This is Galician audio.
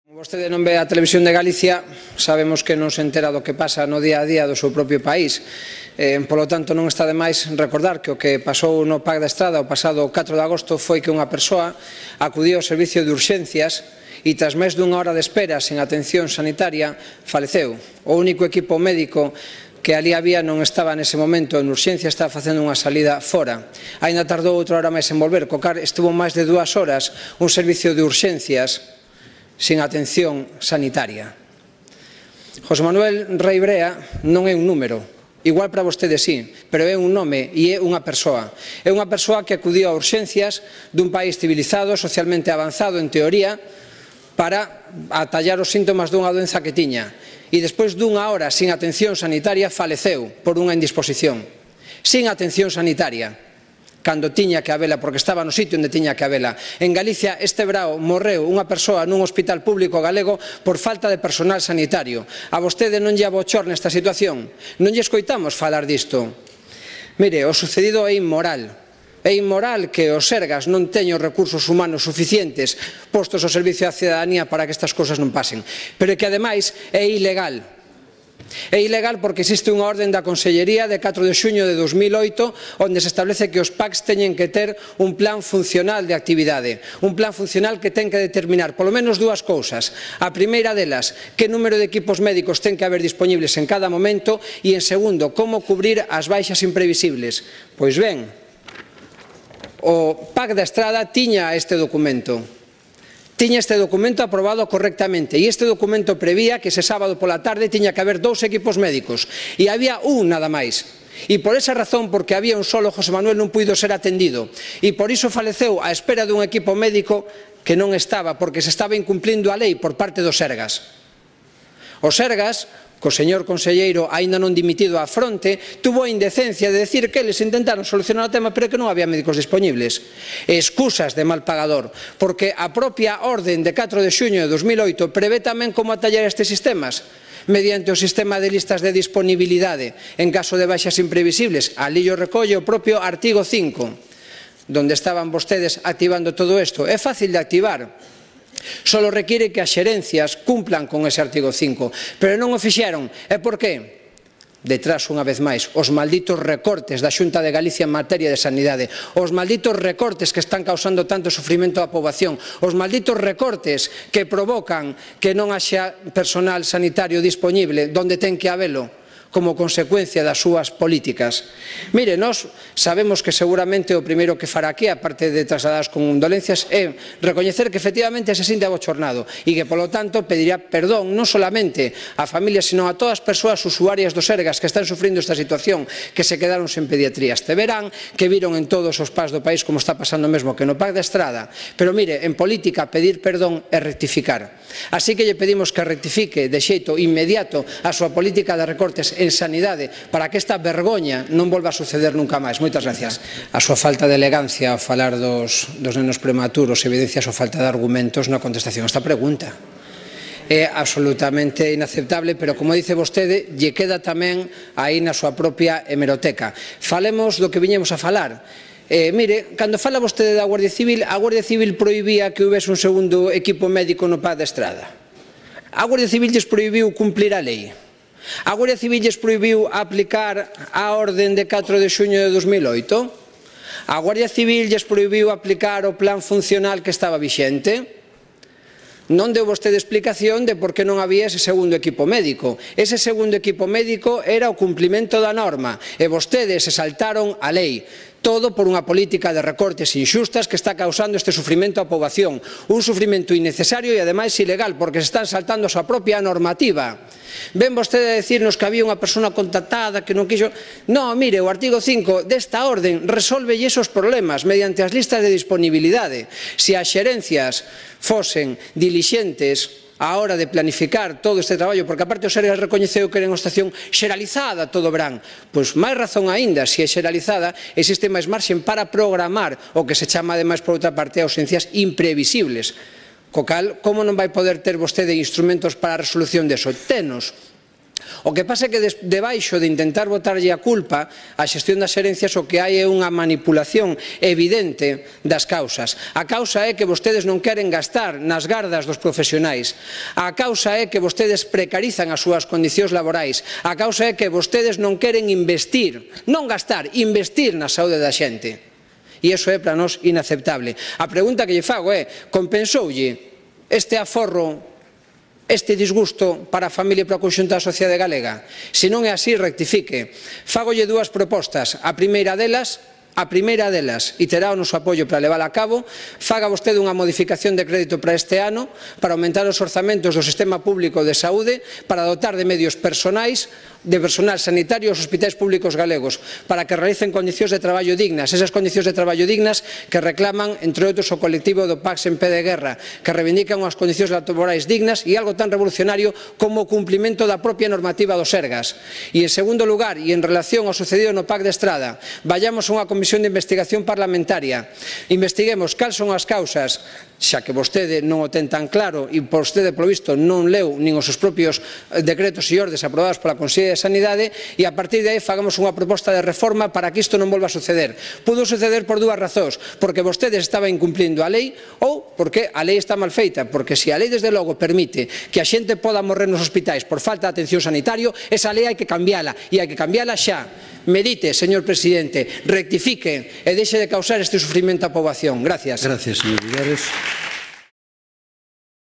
Como vostede non ve a Televisión de Galicia, sabemos que non se entera do que pasa no día a día do seu propio país. Polo tanto, non está de máis recordar que o que pasou no Pac da Estrada o pasado 4 de agosto foi que unha persoa acudiu ao servicio de urxencias e tras máis dunha hora de espera sen atención sanitaria faleceu. O único equipo médico que ali había non estaba nese momento en urxencia, estaba facendo unha salida fora. Aínda tardou outra hora máis en volver, co cal estuvo máis de 2 horas un servicio de urxencias sin atención sanitaria. José Manuel Rei Brea non é un número, igual para vostede sí, pero é un nome e é unha persoa. É unha persoa que acudiu a urxencias dun país civilizado, socialmente avanzado en teoría, para atallar os síntomas dunha doenza que tiña. E despois dunha hora sin atención sanitaria faleceu por unha indisposición. Sin atención sanitaria, cando tiña que habela, porque estaba no sitio onde tiña que habela. En Galicia este verao morreu unha persoa nun hospital público galego por falta de personal sanitario. A vostede non lle abochorna esta situación? Non lle escoitamos falar disto? Mire, o sucedido é inmoral. É inmoral que os Sergas non teñan os recursos humanos suficientes postos ao servicio da cidadanía para que estas cousas non pasen. Pero é que, ademais, é ilegal. É ilegal porque existe unha orden da Consellería de 4 de xuño de 2008 onde se establece que os PACs teñen que ter un plan funcional de actividade, un plan funcional que ten que determinar polo menos dúas cousas. A primeira delas, que número de equipos médicos ten que haber disponibles en cada momento e, en segundo, como cubrir as baixas imprevisibles. Pois ben, o Pac da Estrada tiña este documento. Tiña este documento aprobado correctamente e este documento prevía que ese sábado pola tarde tiña que haber 2 equipos médicos e había un nada máis. E por esa razón, porque había un solo, José Manuel non puido ser atendido e por iso faleceu á espera dun equipo médico que non estaba, porque se estaba incumplindo a lei por parte dos Sergas. Os Sergas, co señor conselleiro aínda non dimitido á fronte, tuvo a indecencia de decir que eles intentaron solucionar o tema pero que non había médicos disponibles. Excusas de mal pagador, porque a propia orden de 4 de xuño de 2008 prevé tamén como atallar estes sistemas mediante o sistema de listas de disponibilidade en caso de baixas imprevisibles. Ali o recolle o propio artigo 5, donde estaban vostedes activando todo isto. É fácil de activar. Solo require que as xerencias cumplan con ese artigo 5, pero non o fixeron. E por qué? Detrás, unha vez máis, os malditos recortes da Xunta de Galicia en materia de sanidade, os malditos recortes que están causando tanto sufrimento á poboación, os malditos recortes que provocan que non haxa personal sanitario dispoñible donde ten que habelo, como consecuencia das súas políticas. Mire, nós sabemos que seguramente o primeiro que fará aquí, aparte de trasladar as condolencias, é recoñecer que efectivamente se sinte abochornado e que, polo tanto, pedirá perdón non solamente á familia, sino a todas as persoas usuarias dos Sergas que están sufrindo esta situación, que se quedaron sen pediatría este verán, que viron en todos os PACs do país como está pasando mesmo que no Pac da Estrada. Pero, mire, en política pedir perdón é rectificar. Así que lle pedimos que rectifique de xeito inmediato a súa política de recortes en sanidade para que esta vergoña non volva a suceder nunca máis. Moitas gracias. A súa falta de elegancia ao falar dos nenos prematuros evidencia a súa falta de argumentos na contestación a esta pregunta. É absolutamente inaceptable, pero como dice vostede, lle queda tamén aí na súa propia hemeroteca. Falemos do que viñemos a falar. Mire, cando fala vostede da Guardia Civil, a Guardia Civil prohibía que houvese un segundo equipo médico no Pac da Estrada. A Guardia Civil lles prohibiu cumplir a lei. A Guardia Civil lles prohibiu aplicar a orden de 4 de xuño de 2008? A Guardia Civil lles prohibiu aplicar o plan funcional que estaba vixente? Non deu vostede explicación de por que non había ese segundo equipo médico. Ese segundo equipo médico era o cumplimento da norma e vostedes se saltaron a lei. Todo por unha política de recortes inxustas que está causando este sufrimento á poboación. Un sufrimento innecesario e, ademais, ilegal, porque se están saltando a súa propia normativa. Ven vostede a decirnos que había unha persona contactada que non quixo... Non, mire, o artigo 5 desta orden resolve esos problemas mediante as listas de disponibilidade. Se as xerencias fosen dilixentes á hora de planificar todo este traballo, porque aparte o Sergas recoñeceu que era unha estación xeralizada todo o verán, pois máis razón aínda, se é xeralizada, existe máis marxen para programar o que se chama ademais por outra parte ausencias imprevisibles. Co cal, como non vai poder ter vostede instrumentos para a resolución deso? Tenos. O que pasa é que debaixo de intentar botarlle a culpa á xestión das herencias o que hai é unha manipulación evidente das causas. A causa é que vostedes non queren gastar nas gardas dos profesionais. A causa é que vostedes precarizan as súas condicións laborais. A causa é que vostedes non queren investir, non gastar, investir na saúde da xente. E iso é para nós inaceptable. A pregunta que lle fago é: compensoulle este aforro, este disgusto para a familia e para o conxunto da sociedade galega? Se non é así, rectifique. Fágolle dúas propostas. A primeira delas, e terá o noso apoio para levála a cabo, faga vostede unha modificación de crédito para este ano para aumentar os orzamentos do sistema público de saúde, para dotar de medios personais, de personal sanitario aos hospitais públicos galegos, para que realicen condicións de traballo dignas, esas condicións de traballo dignas que reclaman, entre outros, o colectivo do PACS en pé de guerra, que reivindican unhas condicións laborais dignas e algo tan revolucionario como o cumplimento da propia normativa do Sergas. E, en segundo lugar, e en relación ao sucedido no PAC de Estrada, vayamos a unha comisión de investigación parlamentaria, investiguemos cal son as causas, xa que vostede non o ten tan claro e vostede, polo visto, non leu nin os seus propios decretos e ordes aprobados pola Consellería de Sanidade, e a partir de aí fagamos unha proposta de reforma para que isto non volva a suceder. Pudo suceder por dúas razóns: porque vostedes estaban incumplindo a lei ou porque a lei está mal feita, porque se a lei desde logo permite que a xente poda morrer nos hospitais por falta de atención sanitario, esa lei hai que cambiala, e hai que cambiala xa. Medite, señor presidente, rectifique e deixe de causar este sufrimento á poboación. Gracias. Gracias, señor Villares.